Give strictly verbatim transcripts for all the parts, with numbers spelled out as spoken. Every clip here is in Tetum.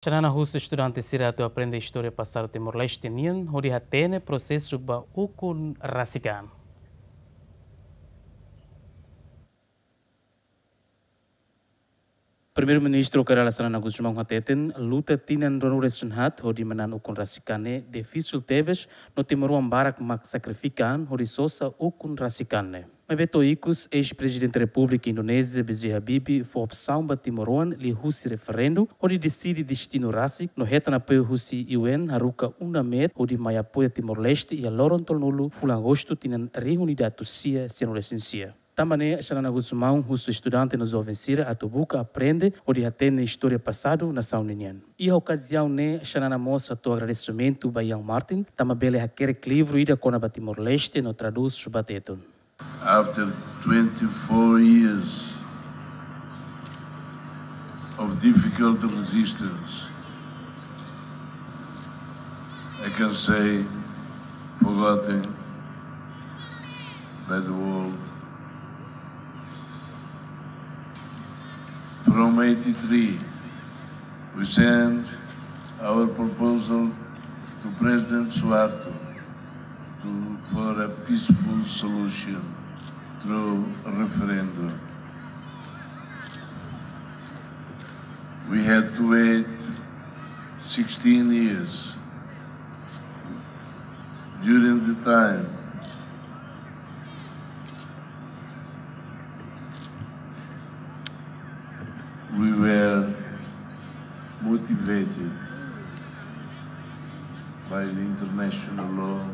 Xanana husu estudante sira atu aprende istória pasadu Timor-Leste nian, hodi hatene prosesu ba ukun rasik an. Primeiru-Ministru Kay Rala Xanana Gusmão hateten, luta tinan ruanulu-resin-haat hodi manán ukun rasik an ne'e difisil tebes, no timoroan barak mak sakrifika an hodi sosa ukun rasik an ne'e. Maibé to'o ikus, eis-Prezidente Repúblika Indonézia, B J Habibie, fó opsaun ba timoroan liuhusi referendu hodi deside destinu rasik, no hetan apoiu husi U N haruka UNAMED hodi mai apoia Timor-Leste iha loron tolunulu fulan Agostu tinan rihun ida atus sia sianulu-resin-sia. Tanba ne'e, Xanana Gusmão husu estudante no joven sira atu buka aprende hodi hatene istória pasadu nasaun ninian. Iha okaziaun ne'e, Xanana mós hato'o agradesimentu ba Ian Martin, tanba bele hakerek livru ida kona-ba Timor-Leste no tradús ba Tetun. After twenty-four years of difficult resistance, I can say, forgotten by the world. From eighty-three, we sent our proposal to President Suharto to, for a peaceful solution through a referendum. We had to wait sixteen years. During the time, we were motivated by the international law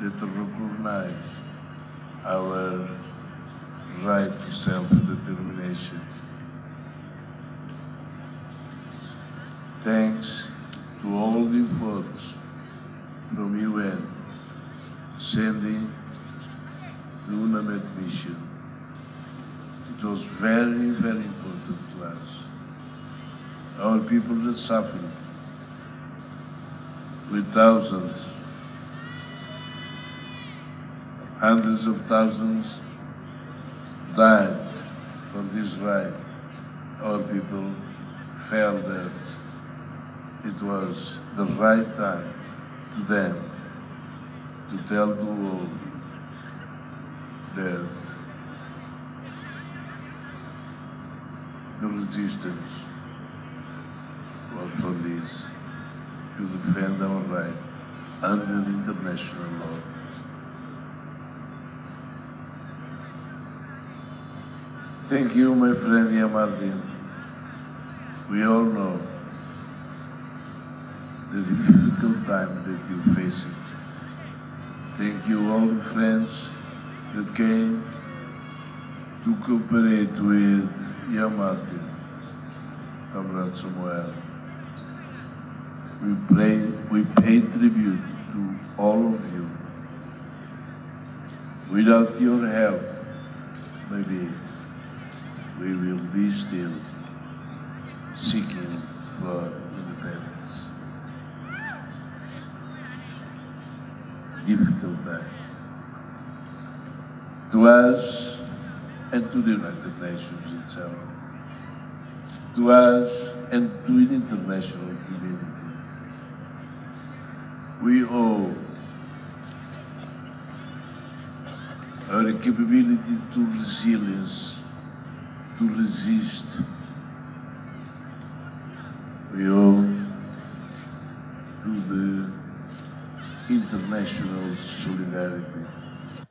that recognized our right to self-determination. Thanks to all the efforts from U N, sending the UNAMED mission. It was very, very important to us. Our people that suffered with thousands, hundreds of thousands died for this right. Our people felt that it was the right time to them to tell the world that the resistance was for this, to defend our right under the international law. Thank you, my friend Ian Martin. We all know the difficult time that you faced. Thank you, all the friends that came to cooperate with Ian Martin, Comrade Samuel. We pray, we pay tribute to all of you. Without your help, maybe we will be still seeking for independence. Difficult time to us and to the United Nations itself, to us and to the international community. We owe our capability to resilience, to resist, we owe to the international solidarity.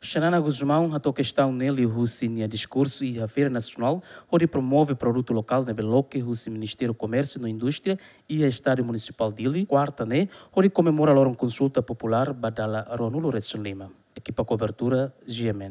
Xanana Gusmão hato'o kestaun ne'e liuhusi nia diskursu iha Feira Nasionál hodi promove produtu lokál ne'ebé loke husi Ministériu Komérsiu no Indústria iha Estádiu Munisipál Dili, kuarta ne'e, hodi komemora loron konsulta populár ba dala ruanulu-resin-lima. Ekipa kobertura, G M N.